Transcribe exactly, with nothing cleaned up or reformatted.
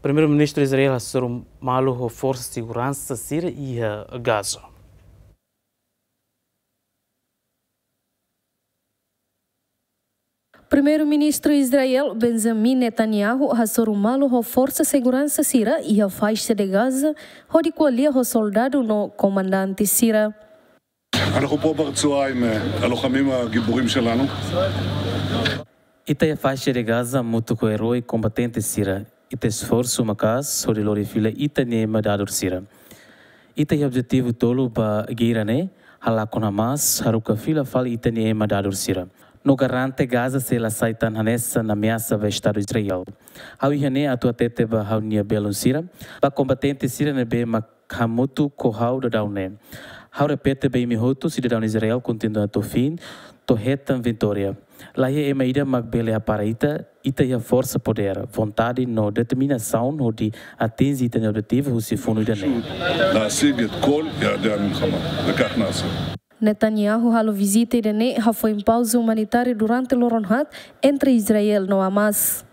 Primeiru-Ministru Israel hasoru malu ho forsa seguransa sira iha Gaza. Primeiru-Ministru Israel Benjamin Netanyahu hasoru malu ho forsa seguransa sira iha faixa de Gaza, hodi ko'alia ho soldadu no komandante sira. אנחנו פה ברצועה עם הלוחמים הגיבורים שלנו. Ita iha faixa de Gaza hamutuk ho eroi kombatente sira. Ita esforsu maka'as hodi lori fila ita-nia ema dadur sira. Ita iha objetivu tolu ba geira ne'e, halakon Hamas, haruka fila fali ita-nia ema dadur sira. No garante Gaza sei la sai tan hanesan ameasa ba Estadu Israel. Ha'u iha ne'e atu hatete ba ha'u-nia belun sira, ba kombatente sira ne'ebé mak hamutuk ho ha'u daudaun ne'e. Ha'u repete ba imi hotu, sidadaun Israel kontinua to'o fim, to'o hetan vitória. La iha ema ida mak bele hapara ita, ita iha forsa, podér, vontade no determinasaun hodi atinje ita-nia objetivu husi funu ida-ne'e. להשיג את כל יעדי המלחמה, וכך נעשה. Netanyahu halo vizita ida-ne'e hafoin pauza umanitáriu durante loron haat entre Israel no Hamas.